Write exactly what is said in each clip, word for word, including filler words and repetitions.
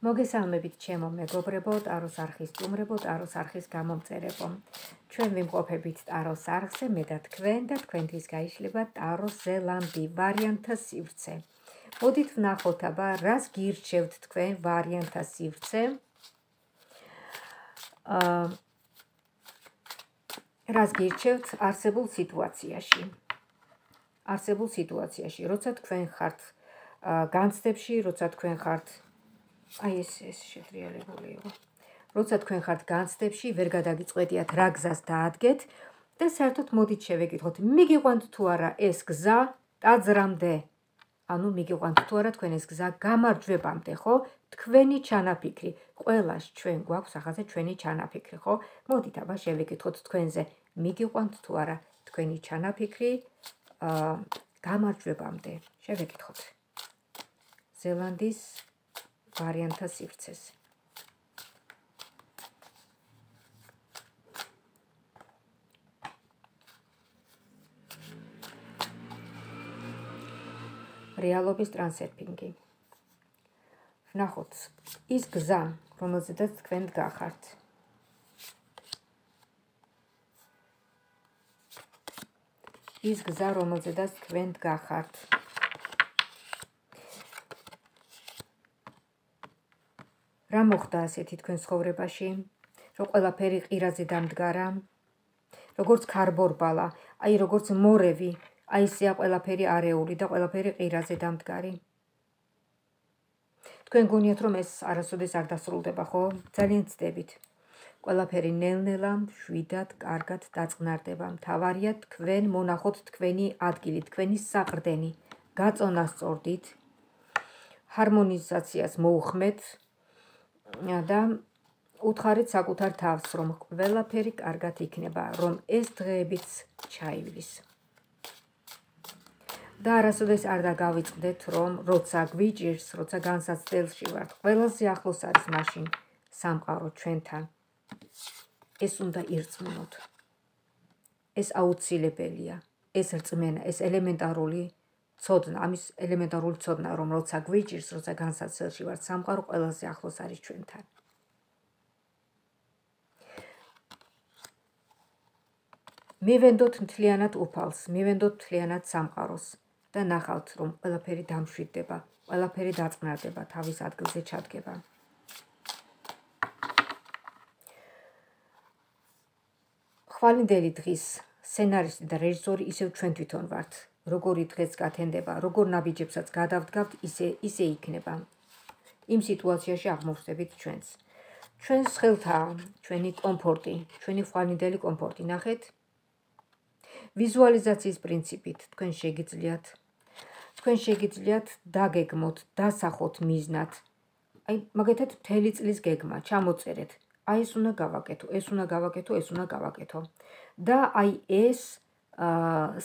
მოგესალმებით ჩემო მეგობრებო, ტაროს არხის სტუმრებო, ტაროს არხის გამომწერებო. ჩვენ ვიმყოფებით ტაროს არხზე, მე და თქვენ და თქვენთვის გაიშლება ტაროს ზელანდი ვარიანტთა სივრცე. მოდით ვნახოთ აბა, რას გირჩევთ თქვენ ვარიანტთა სივრცე? აა რას გირჩევთ არსებულ სიტუაციაში? არსებულ სიტუაციაში, როცა თქვენ ხართ განცდებში, როცა თქვენ ხართ აი ეს ეს შეტრიალებული იყო. როცა თქვენ ხართ განცდებში, ვერ გადაგიწყვეტიათ რა გზას დაადგეთ და საერთოდ მოდით შევეკითხოთ, მიგიყვანთ თუ არა ეს გზა ტაძრამდე? ანუ მიგიყვანთ თუ არა თქვენ ეს გზა გამარჯვებამდე, ხო? თქვენი ჩანაფიქრი. ყველას ჩვენ გვაქვს ახალზე ჩვენი ჩანაფიქრი, ხო? მოდით აბა შევეკითხოთ თქვენზე, მიგიყვანთ თუ არა თქვენი ჩანაფიქრი აა გამარჯვებამდე. შევეკითხოთ. ზელანდის ვარიანტთა სივრცეს. რეალობის ტრანსერფინგი. ვნახოთ ის გზა, რომელზედაც თქვენ დგახართ. ის გზა, რომელზედაც თქვენ დგახართ. რა მოხდა ასეთი თქვენ ცხოვრებაში, რომ ყველაფერი ყირაზე დამდგარა, როგორც ქარბორბალა, აი როგორც მორევი, აი ესეა ყველაფერი არეული და ყველაფერი ყირაზე დამდგარი. თქვენ გონიათ რომ ეს არასოდეს არ დასრულდება, ხო? ძალიან ცდებით. ყველაფერი ნელ-ნელა, მშვიდად, კარგად დაწყნარდება. მთავარია თქვენ მონახოთ თქვენი ადგილი, თქვენი საყრდენი, გაწონასწორდით, ჰარმონიზაციას მოუხმეთ და უთხარით საკუთარ თავს, რომ ყველაფერი კარგად იქნება, რომ ეს დღეებიც ჩაივლის. და არასოდეს არ დაგავიწყდეთ, რომ როცა გვიჭირს, როცა განსაცდელში ვართ, ყველაზე ახლოს არის მაშინ სამყარო ჩვენთან. ეს უნდა ირწმუნოთ. ეს აუცილებელია. ეს რწმენა, ეს ელემენტარული ცოდნა, ამის ელემენტარული ცოდნა, რომ როცა გვიჭირს, როცა განსაცდელში ვართ, სამყარო ყველაზე ახლოს არის ჩვენთან. მივენდოთ მთლიანად უფალს, მივენდოთ მთლიანად სამყაროს და ნახავთ, რომ ყველაფერი დამშვიდდება, ყველაფერი დაწყნარდება, თავის ადგილზე ჩადგება. ხვალინდელი დღის სცენარისტი და რეჟისორი ისევ ჩვენ თვითონ ვართ. როგორი დღეც გათენდება, როგორ ნაბიჯებსაც გადავდგავთ, ისე ისე იქნება. იმ სიტუაციაში აღმოვხდებით ჩვენს. ჩვენს ხელთაა ჩვენი კომფორტი, ჩვენი ხვალინდელი კომფორტი. ნახეთ. ვიზუალიზაციის პრინციპით თქვენ შეგიძლიათ თქვენ შეგიძლიათ დაგეგმოთ, დასახოთ მიზნად. აი, მაგათად მთელი წლის გეგმა, ჩამოწერეთ. აი ეს უნდა გავაკეთო, ეს უნდა გავაკეთო, ეს უნდა გავაკეთო. და აი ეს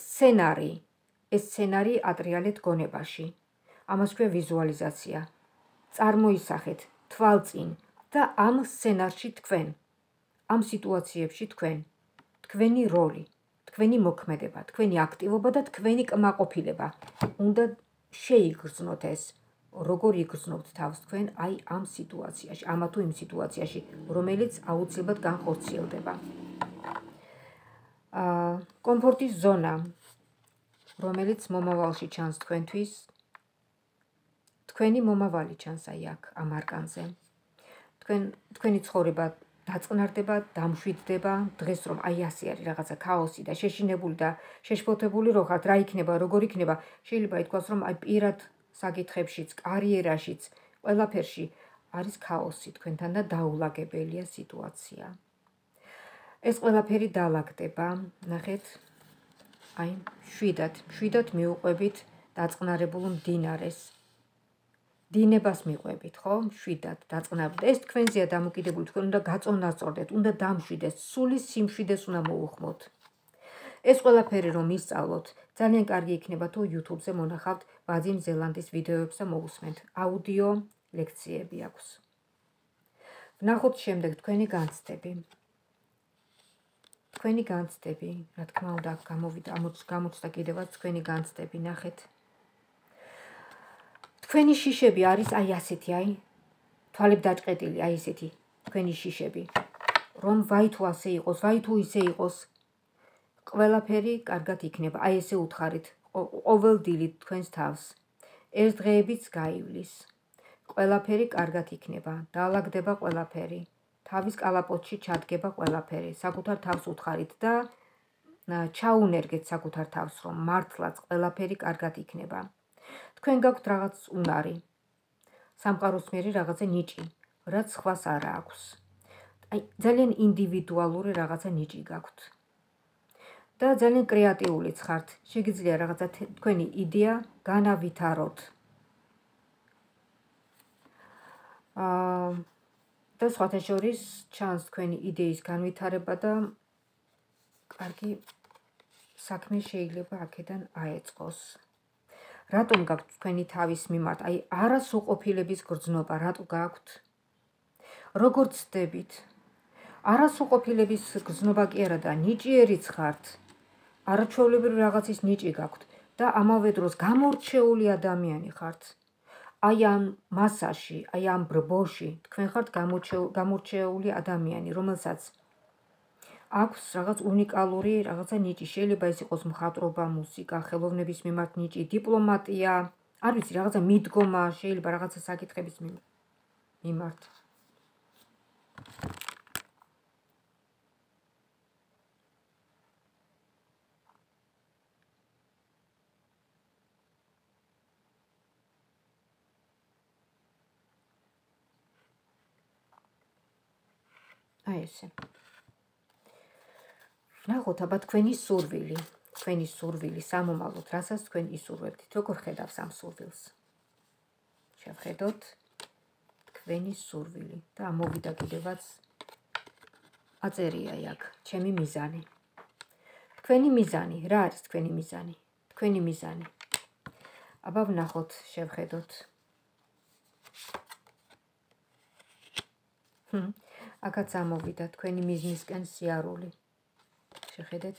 სცენარი, ეს სცენარი ატრიალეთ გონებაში. ამას ქვია ვიზუალიზაცია. წარმოისახეთ თვალწინ და ამ სცენარში თქვენ, ამ სიტუაციებში თქვენ, თქვენი როლი, თქვენი მოქმედება, თქვენი აქტივობა და თქვენი კმაყოფილება. უნდა შეიგრძნოთ ეს. როგორ იგრძნობთ თავს თქვენ აი ამ სიტუაციაში, ამა თუ იმ სიტუაციაში, რომელიც აუცილებლად განხორციელდება. აა კომფორტის ზონა, რომელიც მომავალში ჩანს თქვენთვის, თქვენი მომავალი ჩანს აი აქ ამ არკანზე. თქვენ თქვენი ცხოვრება დაწყნარდება, დამშვიდდება, დღეს რომ აი ასე არის რაღაცა ქაოსი და შეშინებული და შეშფოთებული რო ხართ, რა იქნება, როგორ იქნება, შეიძლება ითქვას, რომ აი პირად საკითხებშიც, კარიერაშიც, ყველაფერში არის ქაოსი თქვენთან და დაულაგებელია სიტუაცია. ეს ყველაფერი დაალაგდება, ნახეთ, აი, შვიდად, შვიდად მიუყვებით დაწყნარებულ მდინარეს. დინებას მიყვებით, ხო? შვიდად დაწყნარებულ. ეს თქვენზეა დამოკიდებული, თქვენ უნდა გაწონასწორდეთ, უნდა დამშვიდეს, სული სიმშვიდეს უნდა მოუხმოთ. ეს ყველაფერი რომ ისწავლოთ, ძალიან კარგი იქნება თუ YouTube-ზე მონახავთ ვადიმ ზელანდის ვიდეოებს და მოусმენთ. აუდიო ლექციები აქვს. ვნახოთ შემდეგ თქვენი განცდები. თქვენი განცდები, რა თქმა უნდა, გამოვიდა, გამოცდა კიდევაც თქვენი განცდები, ნახეთ. თქვენი შიშები არის აი ასეთი, აი თვალები დაჭყეტილი, აი ესეთი თქვენი შიშები. რომ ვაი თუ ასე იყოს, ვაი თუ ისე იყოს, ყველაფერი კარგად იქნება. აი ესე უთხარით, ყოველ დილით თქვენს თავს. ეს დღეებიც გაივლის. ყველაფერი კარგად იქნება, დაალაგდება ყველაფერი. თავის კალაპოტში ჩადგება ყველაფერი. საკუთარ თავს უთხარით და ჩაუნერგეთ საკუთარ თავს, რომ მართლაც ყველაფერი კარგად იქნება. თქვენ გაქვთ რაღაც უნარი. სამყაროსმიერი რაღაცა ნიჭი, რაც სხვას არ აქვს. აი, ძალიან ინდივიდუალური რაღაცა ნიჭი გაქვთ. და ძალიან კრეატიულიც ხართ. შეგიძლია რაღაცა თქვენი იდეა განავითაროთ. აა და სხვათა შორის ჩანს თქვენი იდეის განვითარება და კარგი საქმე შეიძლება აქედან აეწყოს. რატომ გაქვთ თქვენი თავის მიმართ, აი არასრულყოფილების გრძნობა, რატო გაქვთ? როგორ ცდებით? არასრულყოფილების გრძნობა კი არა და ნიჭიერიც ხართ. არაჩვეულებრივი რაღაცის ნიჭი გაქვთ და ამავე დროს გამორჩეული ადამიანი ხართ. აი ამ მასაში, აი ამ ბრბოში თქვენ ხართ გამორჩეული ადამიანი, რომელსაც აქვს რაღაც უნიკალური რაღაცა ნიჭი. შეიძლება ეს იყოს მხატვრობა, მუსიკა, ხელოვნების მიმართ ნიჭი, დიპლომატია, არ ვიცი, რაღაცა მიდგომა, შეიძლება რაღაცა საკითხების მიმართ. აი ესე. ნახოთ აბა თქვენი სურვილი, თქვენი სურვილი სამომავლოდ, რასაც თქვენ ისურვებთ, როგორ ხედავს ამ სურვილს? შევხედოთ თქვენი სურვილი და ამოვიდა კიდევაც აწერია აქ, ჩემი მიზანი. თქვენი მიზანი, რა არის თქვენი მიზანი? თქვენი მიზანი. აბა ვნახოთ, შევხედოთ. აქაც ამოვიდა თქვენი მიზნისკენ სიარული. შეხედეთ.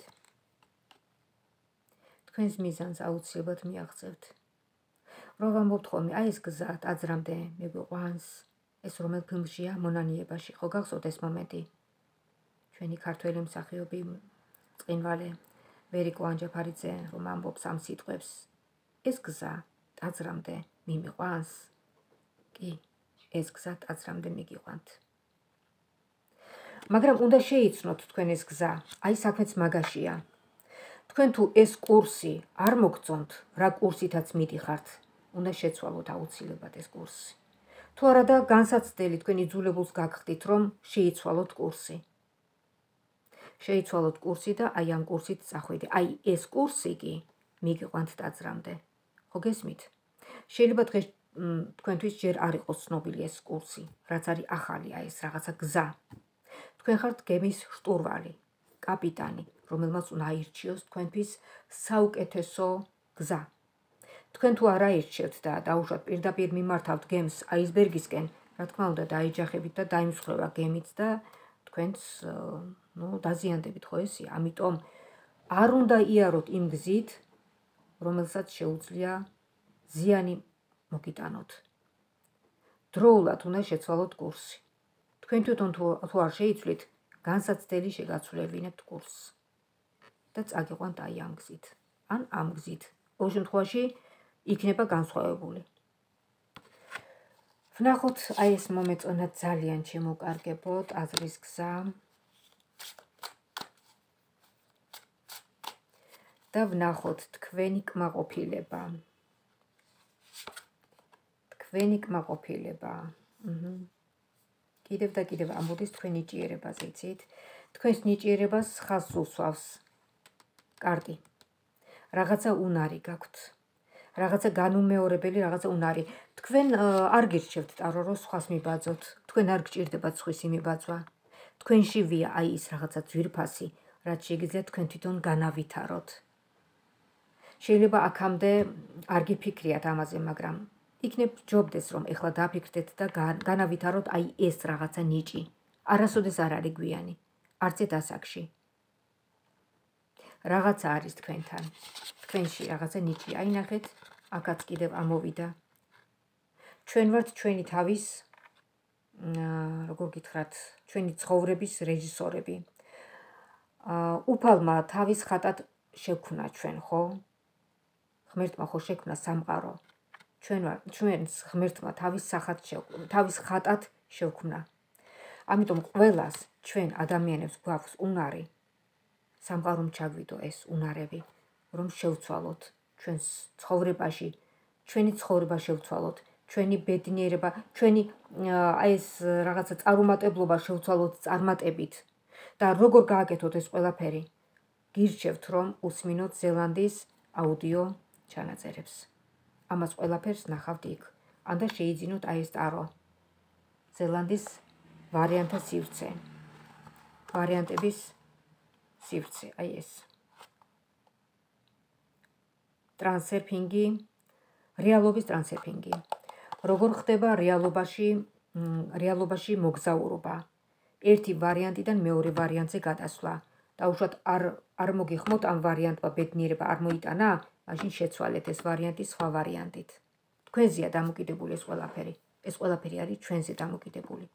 თქვენს მიზანს აუცილებლად მიაღწევთ. რო ვამბობთ ხოლმე, აი ეს გზა ტაძრამდე მეგვიყვანს, ეს რომელ ფილმშია მონანიებაში, ხო გახსოვთ ეს მომენტი? ჩვენი ქართველი მსახიობი წყინვალე ვერიკო ანჯაფარიძე რომ ამბობს ამ სიტყვებს, ეს გზა ტაძრამდე მიმიყვანს? კი, ეს გზა ტაძრამდე მიგიყვანთ. მაგრამ უნდა შეიცნოთ თქვენ ეს გზა, აი საქმეც მაგაშია. თქვენ თუ ეს კურსი არ მოგწონთ, რა კურსითაც მიდიხართ, უნდა შეცვალოთ აუცილებლად ეს კურსი. თუ არა და განსაცდელი თქვენ იძულებულს გაგხდით, რომ შეიცვალოთ კურსი. შეიცვალოთ კურსი და აი ამ კურსით წახვიდე. აი ეს კურსი კი მიგიყვანთ ტაძრამდე. ხო გესმით? შეიძლება დღეს თქვენთვის ჯერ არ იყოს ცნობილი ეს კურსი, რაც არის ახალია ეს რაღაცა გზა. თქვენ ხართ გემის შტურვალი, კაპიტანი, რომელმაც უნდა აირჩიოს თქვენთვის საუკეთესო გზა. თქვენ თუ არ აირჩევთ და დაუშვათ პირდაპირ მიმართავთ გემს აისბერგისკენ, რა თქმა უნდა დაიჯახებით და დაიმსხვრევა გემიც და თქვენც ნუ დაზიანდებით, ხო ესეა? ამიტომ არ უნდა იაროთ იმ გზით, რომელსაც შეუძლია ზიანი მოგიტანოთ. დროულად უნდა შეცვალოთ კურსი. თქვენ თვითონ თუ არ შეიცვლით, განსაცდელი შეგაცვლებინებთ კურსს და წაგიყვანთ აი ამ გზით, ან ამ გზით. ყოველ შემთხვევაში იქნება განსხვავებული. ვნახოთ, აი ეს მომეწონა ძალიან შემოკარგებო ტაძრის გზა. და ვნახოთ თქვენი კმაყოფილება. თქვენი კმაყოფილება. აჰა. კიდევ და კიდევ ამბოდის თქვენ ნიჭიერებაზე, იცით? თქვენს ნიჭიერებას ხაზს უსვავს კარტი. რაღაცა უნარი გაქვთ. რაღაცა განუმეორებელი რაღაცა უნარი. თქვენ არ გირჩევთ ტარო რომ სხვას მიბაძოთ. თქვენ არ გჭირდებათ სხვისი მიბაძვა. თქვენში ვია აი ის რაღაცა ძვირფასი, რაც შეგიძლიათ თქვენ თვითონ განავითაროთ. შეიძლება აქამდე არ გიფიქრიათ ამაზე, მაგრამ იქნებ ჯობდეს რომ ეხლა დაფიქრდეთ და განავითაროთ აი ეს რაღაცა ნიჭი. არასოდეს არ არის გვიანი, არც ერთ ასაკში. რაღაცა არის თქვენთან. თქვენში რაღაცა ნიჭი. აი ნახეთ, აქაც კიდევ ამოვიდა. ჩვენ ვართ ჩვენი თავის როგორ გითხრათ, ჩვენი ცხოვრების რეჟისორები. უფალმა თავის ხატად შექმნა ჩვენ, ხო? ღმერთმა ხო შექმნა სამყარო. ჩვენ ჩვენს ღმერთმა თავის სახად თავის ხატად შექმნა. ამიტომ ყველას ჩვენ ადამიანებს გვაქვს უნარი სამყარომ ჩაგვიდო ეს უნარები, რომ შევცვალოთ ჩვენს ცხოვრებაში, ჩვენი ცხოვრება შევცვალოთ, ჩვენი ბედნიერება, ჩვენი აი ეს რაღაცა წარუმატებლობა შევცვალოთ წარმატებით და როგორ გააკეთოთ ეს ყველაფერი? გირჩევთ, რომ უსმინოთ ზელანდიის აუდიო ჩანაწერებს. ამას ყველაფერს ნახავთ იქ. ანდა შეიძინოთ აი ეს ტარო. ზელანდიის ვარიანტთა სივრცე. ვარიანტების სივრცე, აი ეს. ტრანსერფინგი, რეალობის ტრანსერფინგი. როგორ ხდება რეალობაში, რეალობაში მოგზაურობა. ერთი ვარიანტიდან მეორე ვარიანტზე გადასვლა. და უშუალოდ არ არ მოგიხმოთ ამ ვარიანტმა ბედნიერება არ მოიტანა, მაშინ შეცვალეთ ეს ვარიანტი სხვა ვარიანტით. თქვენზეა დამოკიდებული ეს ყველაფერი. ეს ყველაფერი არის ჩვენზე დამოკიდებული.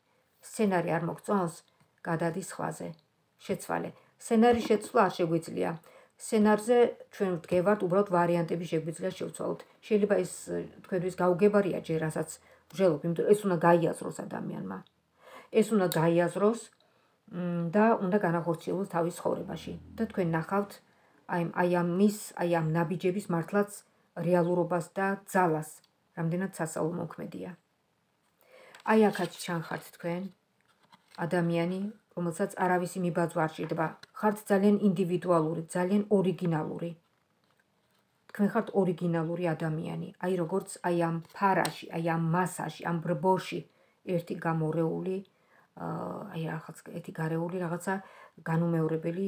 სცენარი არ მოგწონს, გადადის სხვაზე. შეცვალე. სცენარის შეცვლა არ შეგვიძლია. სცენარზე ჩვენ ვდგევართ, უბრალოდ ვარიანტები შეგვიძლია შევცვალოთ. შეიძლება ეს თქვენთვის გაუგებარია ჯერ, რასაც ვжелობ, იმიტომ ეს უნდა გაიაზროს ადამიანმა. ეს უნდა გაიაზროს და უნდა განახორციელოს თავის ცხოვრებაში. და თქვენ ნახავთ აი აი ამის, აი ამ ნაბიჯების მართლაც რეალურობას და ძალას, რამდენად სასწაულ მოქმედია. აი აქაც ჩანხართ თქვენ ადამიანი, რომელსაც არავისი მიბაძვა არ ჭირდება. ხართ ძალიან ინდივიდუალური, ძალიან ორიგინალური. თქვენ ხართ ორიგინალური ადამიანი. აი როგორც აი ამ ფარაში, აი ამ მასაში, ამ ბრბოში ერთი გამორეული, აი რაღაც ერთი გარეული რაღაცა განუმეორებელი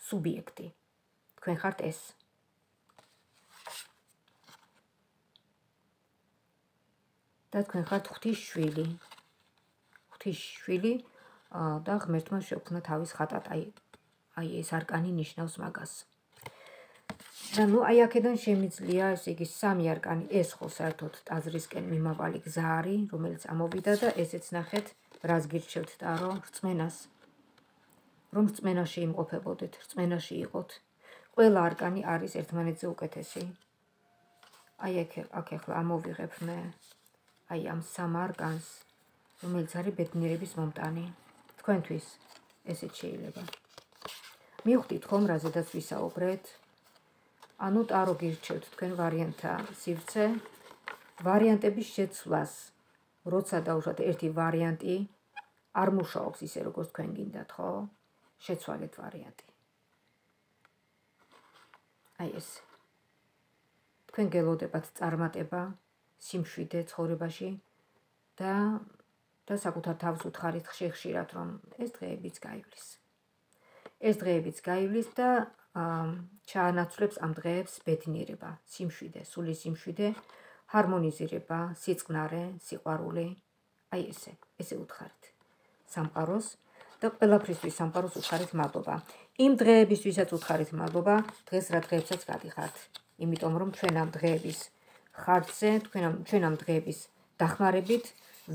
სუბიექტი. თქვენ ხართ ეს. და თქვენ ხართ ღვთის შვილი. ღვთის შვილი და ღმერთმა შექმნა თავის ხატად, აი აი ეს არკანი ნიშნავს მაგას. და ნუ აი აქედან შემიძლია, ესე იგი სამი არკანი, ეს ხო საერთოდ ტაძრისკენ მიმავალი გზა არის, რომელიც ამოვიდა და ესეც ნახეთ, რას გირჩევთ ტარო, რწმენას. რომ რწმენაში იმყოფებოდეთ, რწმენაში იყოთ. ყველა არკანი არის ერთმანეთზე უკეთესი. აი აქ აქ ახლა ამოვიღებ მე აი ამ სამ არკანს, რომელიც არის ბედნიერების მომტანი. თქვენთვის ესეც შეიძლება. მივხვდით ხომ რაზედაც ვისაუბრეთ? ანუ ტარო გირჩევთ თქვენ ვარიანტთა სივრცე, ვარიანტების შეცვლას, როცა დაუშვათ ერთი ვარიანტი არ მუშაობს ისე როგორც თქვენ გინდათ, ხო? შეცვალეთ ვარიანტი. აი ეს. თქვენ გელოდებათ წარმატება, სიმშვიდე ცხოვრებაში და და საკუთარ თავს უთხარით ხშირ-ხშირად, რომ ეს დღეებიც გაივლის. ეს დღეებიც გაივლის და ჩაანაცვლებს ამ დღეებს ბედნიერება, სიმშვიდე, სული სიმშვიდე, ჰარმონიზირება, სიწყნარე, სიყვარული. აი ესე, ესე უთხარით სამყაროს და ყველაფრისთვის სამყაროს უთხარით მადლობა. იმ დღეებისთვისაც უთხარით მადლობა, დღეს რა დღეებსაც გადიხართ. იმიტომ რომ ჩვენ ამ დღეების ხარჯზე, ჩვენ ამ დღეების დახმარებით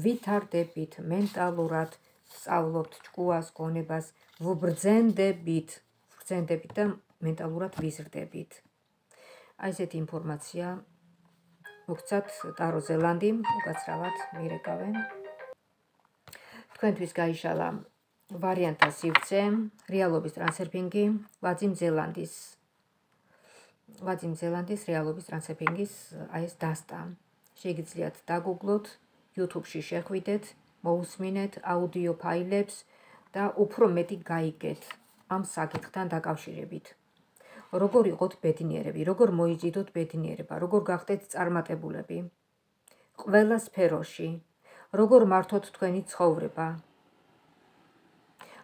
ვითარდებით მენტალურად, სწავლობთ ჭკუას, გონებას, ვბრძენდებით, ვბრძენდებით და მენტალურად ვიზრდებით. აი ესეთი ინფორმაცია მოგცათ ტარო ზელანდიმ, უკაცრავად მირეკავენ. თქვენთვის გაიშალა ვარიანტთა სივრცე, რეალობის ტრანსერფინგი, ვაძიმ ზელანდის. ვაძიმ ზელანდის რეალობის ტრანსერფინგის აი ეს დასტა. შეგიძლიათ დაგუგლოთ, YouTube-ში შეხვიდეთ, მოусმინეთ აუდიო ფაილებს და უფრო მეტი გაიგეთ ამ საკითხთან დაკავშირებით. როგორ იყოთ ბედნიერები, როგორ მოიძიდოთ ბედნიერება, როგორ გახდეთ წარმატებულები ყველა სფეროში, როგორ მართოთ თქვენი ცხოვრება,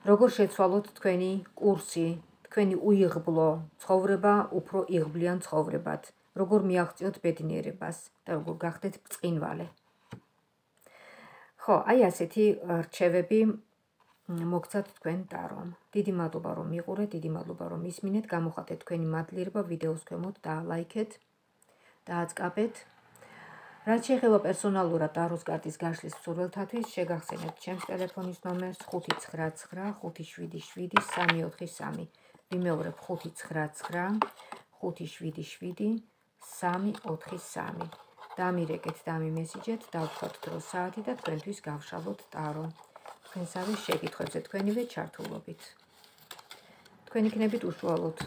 როგორ შეცვალოთ თქვენი კურსი, თქვენი უიღბლო ცხოვრება უფრო იღბლიან ცხოვრებად, როგორ მიაღწიოთ ბედნიერებას და როგორ გახდეთ ბრწყინვალე. ხო, აი ასეთი რჩევები მოგცათ თქვენ ტარომ. დიდი მადლობა რომ მიყურეთ, დიდი მადლობა რომ ისმინეთ, გამოხატეთ თქვენი მადლიერება ვიდეოს ქვემოთ და ლაიქეთ და აწკაპეთ. რაც შეეხება პერსონალურად ტაროს კარტის გაშლის მსურველთათვის, შეგახსენებთ ჩემს ტელეფონის ნომერს ხუთი ცხრა ცხრა ხუთი შვიდი შვიდი სამი ოთხი სამი. ვიმეორებ ხუთი ცხრა ცხრა ხუთი შვიდი შვიდი სამი ოთხი სამი. დამირეკეთ, დამიმესიჯეთ, დავთქვათ დრო საათი და თქვენთვის გავშალოთ ტარო. თქვენსავე შეკითხვებზე თქვენივე ჩართულობით. თქვენ იქნებით უშუალოდ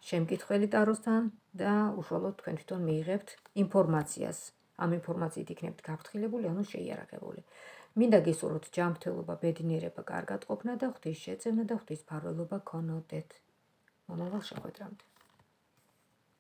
შემკითხველი ტაროსთან და უშუალოდ თქვენ თვითონ მიიღებთ ინფორმაციას. ამ ინფორმაციით იქნებთ გაფრთხილებული, ანუ შეიარაღებული. მინდა გისურვოთ ჯანმრთელობა, ბედნიერება, კარგად ყოფნა და ღვთის შეწევნა და ღვთის მფარველობა გქონოდეთ. მომავალ შეხვედრამდე.